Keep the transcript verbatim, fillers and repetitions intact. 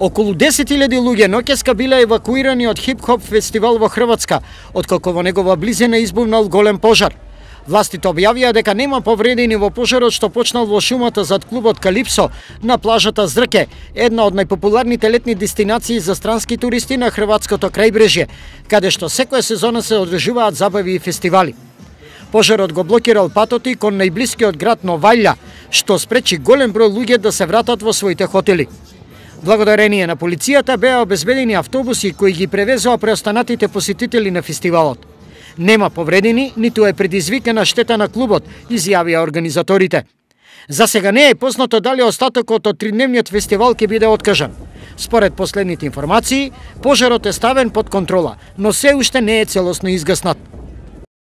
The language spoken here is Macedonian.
Околу десет илјади луѓе ноќеска биле евакуирани од хип-хоп фестивал во Хрватска, откако во негова близина избувнал голем пожар. Властите објавија дека нема повредени во пожарот што почнал во шумата зад клубот Калипсо на плажата Зрке, една од најпопуларните летни дестинации за странски туристи на хрватското крајбрежје, каде што секоја сезона се одржуваат забави и фестивали. Пожарот го блокирал патоти кон најблискиот град Новајлја, што спречи голем број луѓе да се вратат во своите хотели. Благодарение на полицијата беа обезбедени автобуси кои ги превезоа преостанатите посетители на фестивалот. Нема повредени, ниту е предизвикана штета на клубот, изјавија организаторите. За сега не е познато дали остатокот од тридневниот фестивал ќе биде откажан. Според последните информации, пожарот е ставен под контрола, но се уште не е целосно изгаснат.